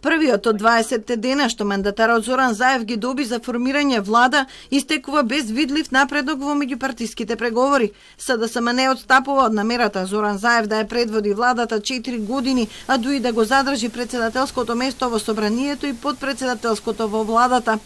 Првиот од 20 дена што мандатарот Зоран Заев ги доби за формирање влада истекува без видлив напредок во меѓупартиските преговори. СДСМ не отстапува од намерата Зоран Заев да ја предводи владата 4 години, а дуи да го задржи председателското место во собранието и подпредседателското во владата.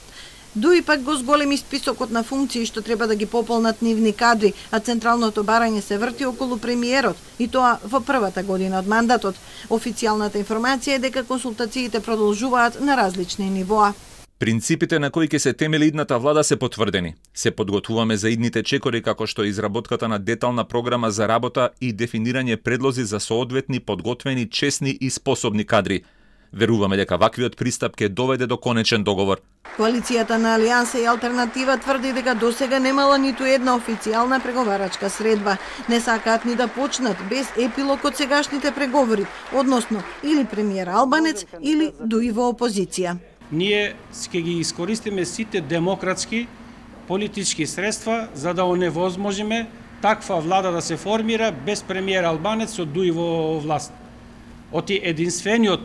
Дуи пак го зголеми списокот на функции што треба да ги пополнат нивни кадри, а централното барање се врти околу премиерот, и тоа во првата година од мандатот. Официјалната информација е дека консултациите продолжуваат на различни нивоа. Принципите на кои ќе се темели идната влада се потврдени. Се подготвуваме за идните чекори како што изработката на детална програма за работа и дефинирање предлози за соодветни, подготвени, честни и способни кадри. Веруваме дека ваквиот пристап ќе доведе до конечен договор. Коалицијата на Алијанса и Алтернатива тврди дека досега немала ниту една официјална преговарачка средба. Не сакаат ни да почнат без епилог од сегашните преговори, односно или премиер Албанец или дуи во опозиција. Ние ќе ги искористиме сите демократски политички средства за да оневозможиме таква влада да се формира без премиер Албанец со дуи во власт. Оти единствениот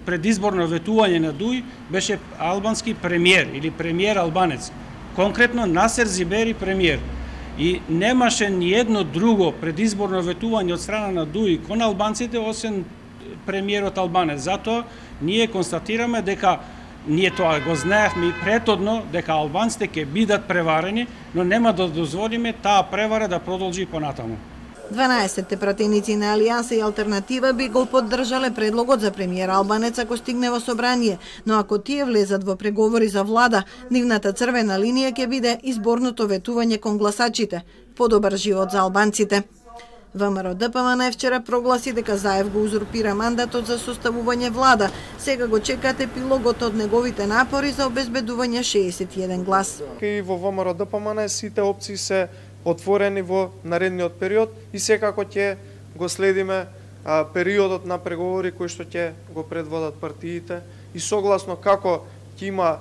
предизборно ветување на Дуј беше албански премиер или премиер албанец. Конкретно Насер Зибери премиер. И немаше ни едно друго предизборно ветување од страна на Дуј кон албанците освен премиерот албанец. Затоа ние констатираме дека ние тоа го знаевме и претhodно дека албанците ќе бидат преварени, но нема да дозволиме таа превара да продолжи понатаму. 12 пратеници на Алијанса и Алтернатива би го поддржале предлогот за премиер Албанец ако стигне во собрание, но ако тие влезат во преговори за влада, нивната црвена линија ќе биде изборното ветување кон гласачите, подобар живот за албанците. ВМРО ДПМН вчера прогласи дека Заев го узурпира мандатот за составување влада. Сега го чекат епилогот од неговите напори за обезбедување 61 глас. И во ВМРО ДПМН сите опции се отворени во наредниот период и секако ќе го следиме периодот на преговори кои што ќе го предводат партиите и согласно како ќе има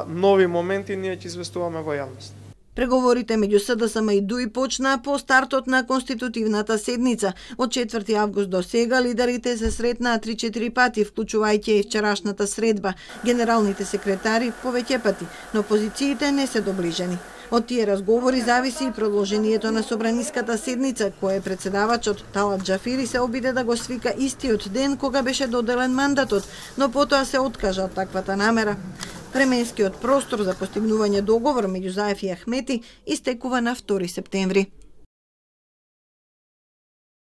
нови моменти ние ќе известуваме во јавност. Преговорите меѓу СДСМ и ДУИ почнаа по стартот на конститутивната седница. Од 4 август до сега лидерите се сретнаа 3-4 пати, вклучувајќи и вчерашната средба. Генералните секретари повеќе пати, но позициите не се доближени. Од тие разговори зависи и продолжението на собраниската седница, која председавачот Талат Џафири се обиде да го свика истиот ден кога беше доделен мандатот, но потоа се откажа од таквата намера. Временскиот простор за постигнување договор меѓу Заев и Ахмети истекува на 2 септември.